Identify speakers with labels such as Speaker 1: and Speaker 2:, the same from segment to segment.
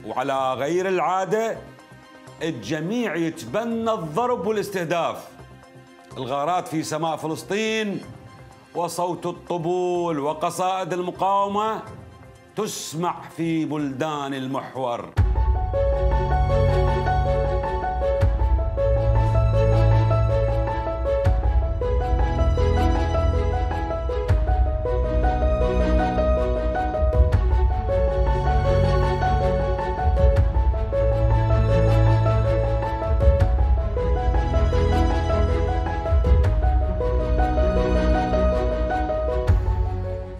Speaker 1: وعلى غير العادة الجميع يتبنى الضرب والاستهداف. الغارات في سماء فلسطين وصوت الطبول وقصائد المقاومة تسمع في بلدان المحور.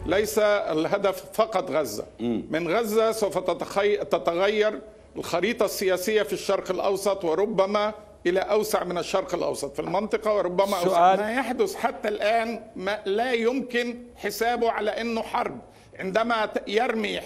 Speaker 2: ليس الهدف فقط غزة. من غزة سوف تتغير الخريطة السياسية في الشرق الأوسط، وربما إلى أوسع من الشرق الأوسط في المنطقة، وربما أوسع. ما يحدث حتى الآن لا يمكن حسابه على أنه حرب. عندما يرمي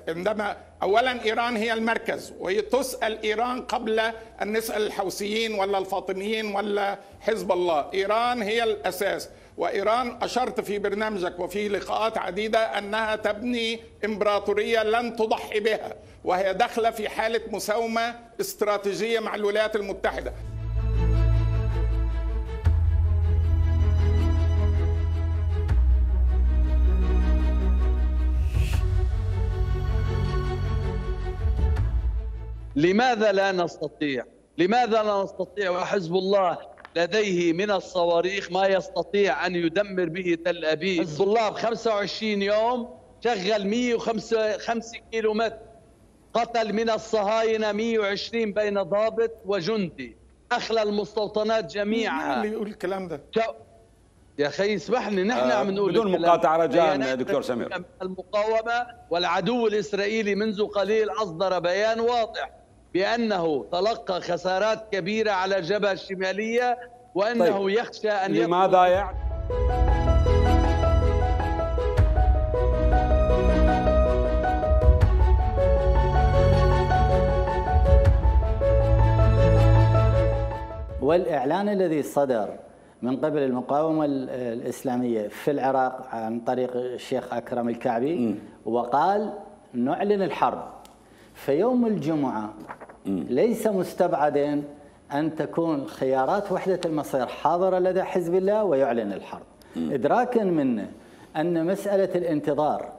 Speaker 2: عندما أولا إيران هي المركز، وتسأل إيران قبل أن نسأل الحوثيين ولا الفاطميين ولا حزب الله. إيران هي الأساس، وإيران أشرت في برنامجك وفي لقاءات عديدة أنها تبني إمبراطورية لن تضحي بها، وهي داخلة في حالة مساومة استراتيجية مع الولايات المتحدة.
Speaker 3: لماذا لا نستطيع؟ لماذا لا نستطيع وحزب الله لديه من الصواريخ ما يستطيع أن يدمر به تل أبيب؟ حزب الله ب 25 يوم شغل 105 كيلومتر، قتل من الصهاينة 120 بين ضابط وجندي، أخلى المستوطنات جميعها.
Speaker 2: اللي يقول الكلام ده
Speaker 3: يا أخي اسمحني، نحن عم نقول
Speaker 1: بدون مقاطعة رجاء دكتور سمير.
Speaker 3: المقاومة والعدو الإسرائيلي منذ قليل أصدر بيان واضح بأنه تلقى خسارات كبيرة على الجبهة الشمالية، وأنه يخشى أن
Speaker 1: لماذا يعني؟
Speaker 4: والإعلان الذي صدر من قبل المقاومة الإسلامية في العراق عن طريق الشيخ أكرم الكعبي وقال نعلن الحرب في يوم الجمعة، ليس مستبعدا أن تكون خيارات وحدة المصير حاضرة لدى حزب الله ويعلن الحرب، إدراكا منه أن مسألة الانتظار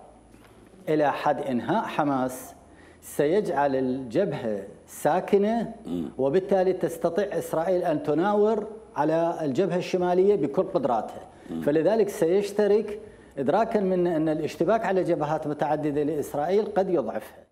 Speaker 4: إلى حد إنهاء حماس سيجعل الجبهة ساكنة، وبالتالي تستطيع إسرائيل أن تناور على الجبهة الشمالية بكل قدراتها. فلذلك سيشترك إدراكا منه أن الاشتباك على جبهات متعددة لإسرائيل قد يضعفها.